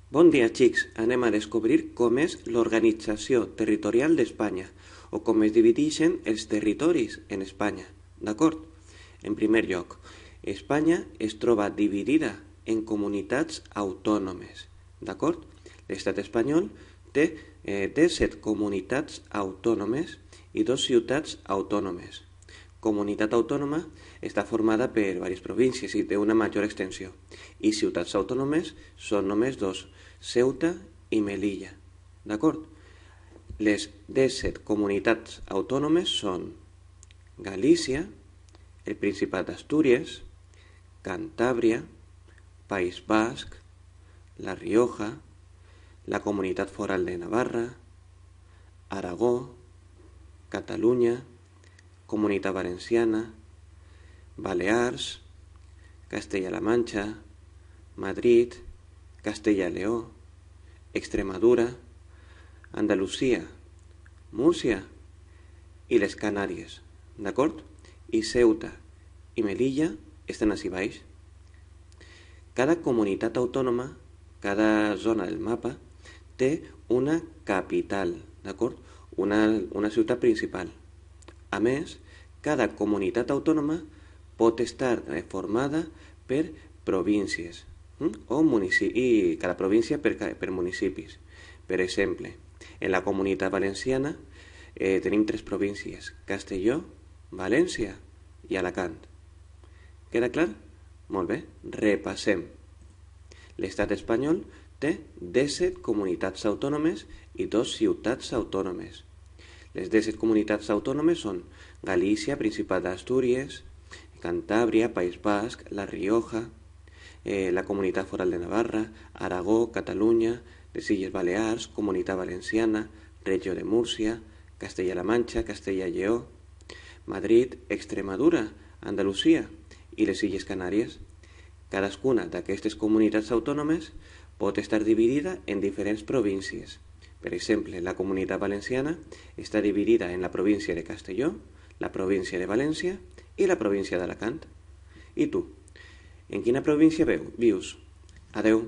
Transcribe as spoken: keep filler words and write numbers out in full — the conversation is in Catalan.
Bon dia, xics. Anem a descobrir com és l'organització territorial d'Espanya o com es divideixen els territoris en Espanya. D'acord? En primer lloc, Espanya es troba dividida en comunitats autònomes. D'acord? L'estat espanyol té eh, disset comunitats autònomes i dos ciutats autònomes. Comunitat autònoma està formada per diverses províncies i té una major extensió. I ciutats autònomes són només dos, Ceuta i Melilla. D'acord? Les disset comunitats autònomes són Galícia, el Principat d'Astúries, Cantàbria, País Basc, La Rioja, la Comunitat Foral de Navarra, Aragó, Catalunya, Comunitat Valenciana, Balears, Castella-La Manxa, Madrid, Castella-Leó, Extremadura, Andalusia, Múrcia i les Canàries, d'acord? I Ceuta i Melilla estan ací baix. Cada comunitat autònoma, cada zona del mapa, té una capital, d'acord? Una, una ciutat principal. A més, cada comunitat autònoma pot estar formada per províncies hm? o municipis, i cada província per, per municipis. Per exemple, en la Comunitat Valenciana eh, tenim tres províncies, Castelló, València i Alacant. Queda clar? Molt bé, repassem. L'estat espanyol té disset comunitats autònomes i dos ciutats autònomes. Les disset comunitats autònomes són Galícia, Principat d'Astúries, Cantàbria, País Basc, La Rioja, eh, la Comunitat Foral de Navarra, Aragó, Catalunya, les Illes Balears, Comunitat Valenciana, Regió de Múrcia, Castella-La Manxa, Castella-Lleó, Madrid, Extremadura, Andalusia i les Illes Canàries. Cadascuna d'aquestes comunitats autònomes pot estar dividida en diferents províncies. Per exemple, la Comunitat Valenciana està dividida en la província de Castelló, la província de València i la província d'Alacant. I tu, en quina província vius? Adeu.